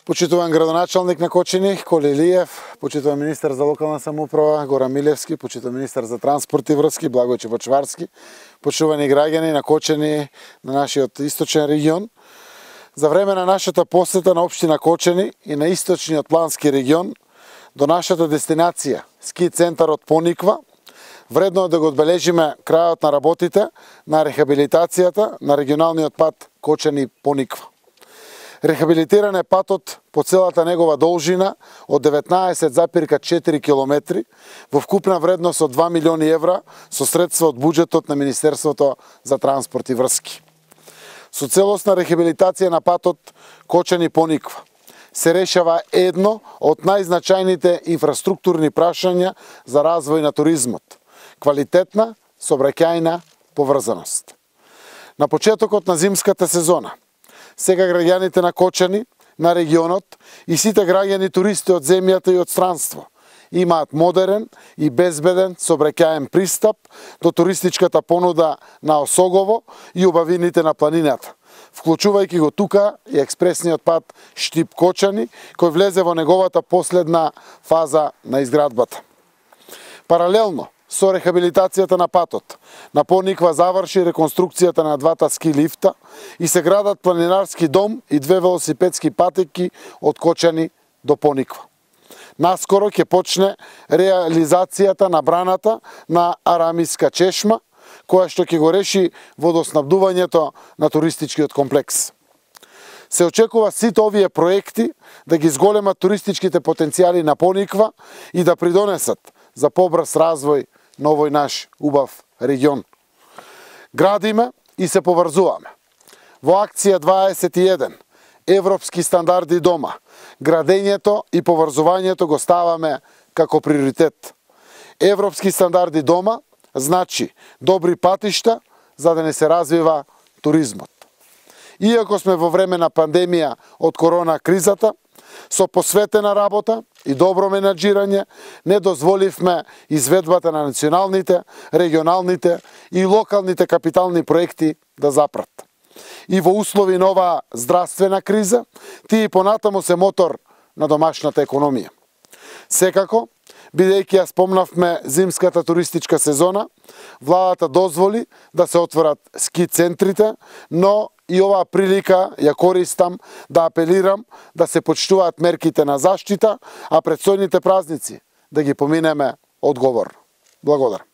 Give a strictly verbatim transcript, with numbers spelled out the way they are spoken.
Почитуван градоначалник на Кочани, Коли Илиев, почитуван министар за локална самоуправа, Горан Милевски, почитуван министар за транспорт и врски, Благој Чепочварски, почитувани граѓани на Кочани, на нашиот источен регион. За време на нашата посета на општина Кочани и на источниот плански регион до нашата дестинација, ски центарот Пониква, вредно е да го одбележиме крајот на работите на рехабилитацијата на регионалниот пат Кочани-Пониква. Рехабилитиран е патот по целата негова должина од деветнаесет запирка четири километри во вкупна вредност од два милиони евра со средства од буџетот на Министерството за транспорт и врски. Со целосна рехабилитација на патот Кочани-Пониква се решава едно од најзначајните инфраструктурни прашања за развој на туризмот – квалитетна сообраќајна поврзаност. На почетокот на зимската сезона сега граѓаните на Кочани, на регионот и сите граѓани туристи од земјата и од странство имаат модерен и безбеден сообраќаен пристап до туристичката понуда на Осогово и убавините на планината, вклучувајќи го тука и експресниот пат Штип-Кочани, кој влезе во неговата последна фаза на изградбата. Паралелно со рехабилитацијата на патот, на Пониква заврши реконструкцијата на двата ски лифта и се градат планинарски дом и две велосипедски патеки од Кочани до Пониква. Наскоро ќе почне реализацијата на браната на Арамиска чешма, која што ќе го реши водоснабдувањето на туристичкиот комплекс. Се очекува сите овие проекти да ги зголемат туристичките потенцијали на Пониква и да придонесат за побрз развој на овој наш убав регион. Градиме и се поврзуваме. Во акција дваесет и еден Европски стандарди дома, градењето и поврзувањето го ставаме како приоритет. Европски стандарди дома значи добри патишта за да не се развива туризмот. Иако сме во време на пандемија од корона кризата, со посветена работа и добро менаџирање не дозволивме изведбата на националните, регионалните и локалните капитални проекти да запрат. И во услови на оваа здравствена криза, тие понатаму се мотор на домашната економија. Секако, бидејќи ја спомнавме зимската туристичка сезона, владата дозволи да се отворат ски центрите, но и оваа прилика ја користам да апелирам да се почитуваат мерките на заштита, а предстојните празници да ги поминеме одговорно. Благодарам.